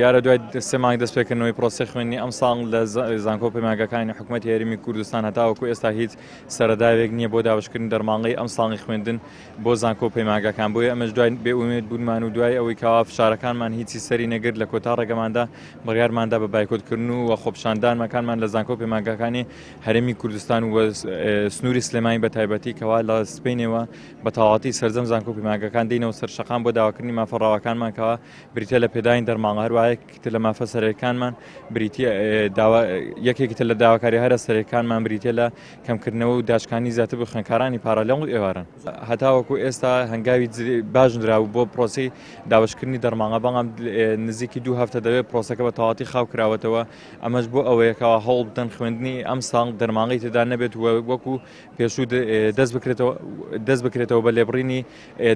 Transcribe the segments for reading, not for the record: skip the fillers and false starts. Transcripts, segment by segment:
دیارە دوای سێ مانگ دەستپێکردنەوەی پرۆسەی خوێندنی ئەمساڵ لە زانکۆ و پەیمانگاکانی حکومەتی هەرێمی کوردستان هەتاوەکو ئێستا هیچ سەرەداوێک نییە بۆ دابەشکردنی دەرماڵەی ئەمساڵی خوێندن بۆ زانکۆ و پەیمانگاکان، بۆیە ئەمەش دوای بێئومێد بوونمان و دوای ئەوەی کەوا فشارەکانمان هیچی سەری نەگرت لە کۆتا ڕێگەماندا بڕیارماندا بە بایکۆتکردن و خۆپیشاندانەکانمان لە زانکۆ و پەیمانگاکانی هەرێمی کوردستان و سنووری سلێمانی بە تایبەتی کەوا لە سبەینێوە بە تەواوەتی سەرجەم زانکۆ و پەیمانگاکان دێینەوە سەر شەقام بۆ داواکردنی مافە ڕەواکانمان کەوا بریتیە لە پێدانی دەرماڵە، هەروەها یەکێکی تر لە مافە سەرەکیەکانمان بریتیە داوا یەکێکی تر لە داواکاری هەرە سەرەکیەکانمان بریتیە لە کەمکردنەوە و داشکانی زیاتر بۆ خوێندکارانی پارالێڵ و ئێواران. هەتاوەکو ئێستا هەنگاوی باش نراوە بۆ پرۆسەی دابەشکردنی دەرماڵە، بەڵام نزیکی دوو هەفتە دەبێت پرۆسەکە بە تەواوەتی خاو کراوەتەوە، ئەمەش بۆ ئەوەیە کەوا هەوڵ بدەن خوێندنی ئەمساڵ دەرماڵەی تێدا نەبێت و وەکو پێشوو دەست بکرێتەوە دەست بکرێتەوە بە لێبڕینی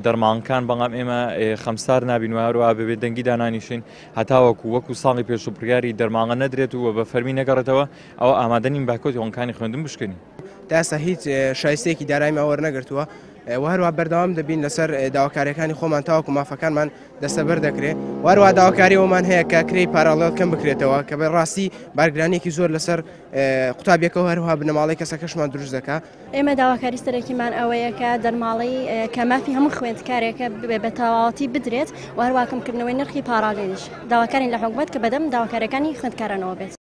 دەرمانکان، بەڵام ئێمە خەمسار نابین و هەروەها بە بێدەنگی دانانیشین هەتاوەکو وەکو ساڵی پێشوو بڕیاری دەرماڵە نەدرێت و بە فەرمی نەگەڕێتەوە ئەوە ئامادە نین بایکۆتی هۆڵەکانی خوێندن بشکێنین. تا ئێستا هیچ شایستەیەکی داراییمان وەرنەگرتووە و هەروەها بەردەوام دەبین لەسەر داواکارییەکانی خۆمان تاوەکو مافەکانمان دەستەبەر دەکرێت و هەروەها داواکاری ئەومان هەیە کە کرێی پاراڵێڵ کەم بکرێتەوە کە بە ڕاستی بارگرانییەکی زۆر لەسەر قوتابیەکە و هەروەها بنەماڵەی کەسەکەشمان دروست دەکا. ئێمە داواکاری سەرەکیمان ئەوەیە کە دەرماڵەی کە مافی هەموو خوێندکارێکە بە تەواوەتی بدرێت و هەروەها کەمکردنەوەی نرخی پاراڵێلیش. داواکارین لە حکومەت کە بەدەم داواکاریەکانی خوێندکارانەوە بێت.